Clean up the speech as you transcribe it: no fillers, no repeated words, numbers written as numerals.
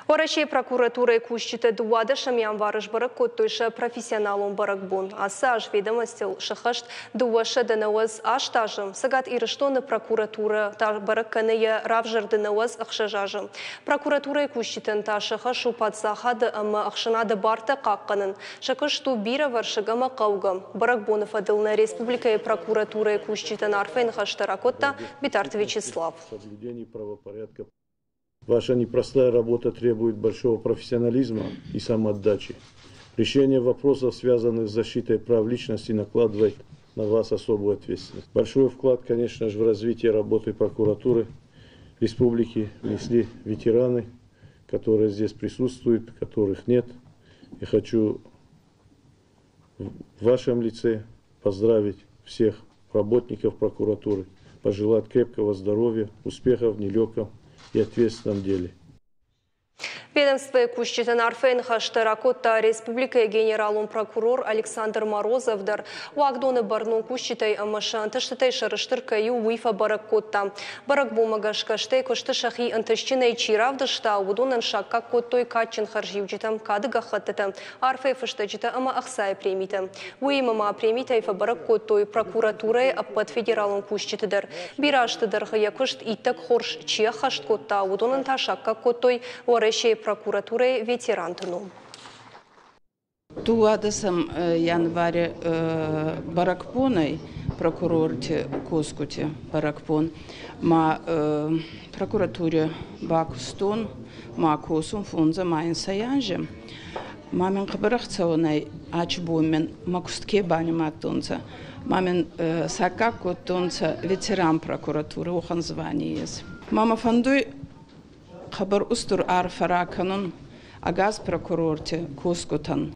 Уӕрӕсейы прокуратурӕйы кусджытӕ 12 январы сбӕрӕг кодтой сӕ профессионалон бӕрӕгбон. Ацы аз ведомостыл сыххӕст 298 азы. Цӕгат Ирыстоны прокуратурӕ та бӕрӕг кӕны йӕ равзӕрды 96 азы. Прокуратурӕйы кусджытӕн та сӕ хӕс у паддзахады ӕмӕ ӕхсӕнады бартӕ хъахъхъӕнын. Сӕ куыст у бирӕвӕрсыг ӕмӕ хъӕугӕ. Бӕрӕгбоны фӕдыл нӕ республикӕйы прокуратурӕйы кусджытӕн арфӕйы ныхӕстӕ ракодта Битарты Вячеслав. Ваша непростая работа требует большого профессионализма и самоотдачи. Решение вопросов, связанных с защитой прав личности, накладывает на вас особую ответственность. Большой вклад, конечно же, в развитие работы прокуратуры республики внесли ветераны, которые здесь присутствуют, которых нет. И хочу в вашем лице поздравить всех работников прокуратуры, пожелать крепкого здоровья, успехов в нелегком и ответственном деле. Ведомствойы кусджытӕн арфӕйы ныхӕстӕ ракодта республикӕйы генералон прокурор Александр Морозов дӕр. Уагдоны бӕрнон кусджытӕй ӕмӕ сӕ ӕнтыстытӕй сӕрыстыр кӕй у, уый фӕбӕрӕг кодта. Бӕрӕгбонмӕ гӕсгӕ стӕй куысты сӕхи ӕнтыстджынӕй чи равдыста, уыдонӕн саккаг кодтой кадджын хӕрзиуджытӕ, кады гӕххӕттытӕ, арфӕйы фыстӕджытӕ ӕмӕ ӕхцайы премитӕ. Уыимӕ ма премитӕй фӕбӕрӕг кодтой прокуратурӕйы ӕппӕт федералон кусджыты дӕр. Бирӕ азты дӕргъы йӕ куыст иттӕг хорз чи ӕххӕст кодта, уыдонӕн та саккаг кодтой Уӕрӕсейы прокуратурӕйы ветеранты ном. 12 январы бӕрӕгбонӕй прокурорти косгути бӕрӕгбон ма прокуратури бакустон ма косун фондзӕ ма инсӕй анзи. Ма мин хъӕбӕр ӕхцӕуӕнӕй ачи бон мин мӕ куст ке банимадтонцӕ, ма мин саккаг кодтонцӕ ветеран прокуратуры уӕхӕн звани ес. Ма мӕ фӕндуй хъӕбӕр устур арфӕ ракӕнун ӕгас прокурорти косгутӕн.